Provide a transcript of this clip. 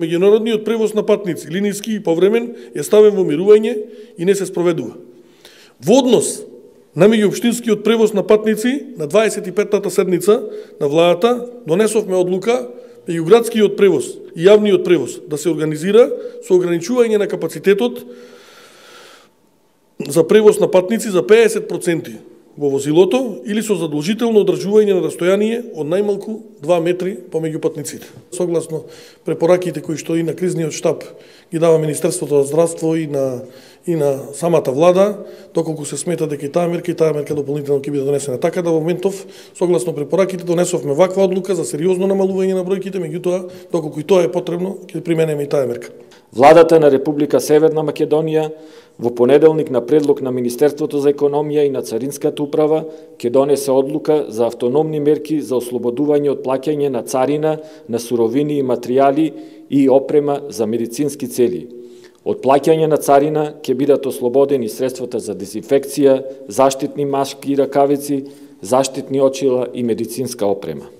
Меѓународниот превоз на патници, линиски и повремен, е ставен во мирување и не се спроведува. Во однос на меѓуопштинскиот превоз на патници, на 25-та седница на владата донесовме одлука меѓуградскиот превоз и јавниот превоз да се организира со ограничување на капацитетот за превоз на патници за 50% во возилото или со задолжително одржување на растојание од најмалку 2 метри помеѓу патниците. Согласно препораките кои што и на кризниот штаб ги дава Министерството за здравство и на самата влада, доколку се смета дека и таа мерка дополнително ќе биде донесена. Така да во моментов, согласно препораките, донесовме ваква одлука за сериозно намалување на бројките, меѓутоа, доколку и тоа е потребно, ќе применеме и таа мерка. Владата на Република Северна Македонија во понеделник на предлог на Министерството за економија и на Царинската управа ќе донесе одлука за автономни мерки за ослободување од плаќање на царина на суровини и материјали и опрема за медицински цели. Од плаќање на царина ќе бидат ослободени средствата за дезинфекција, заштитни маски и ракавици, заштитни очила и медицинска опрема.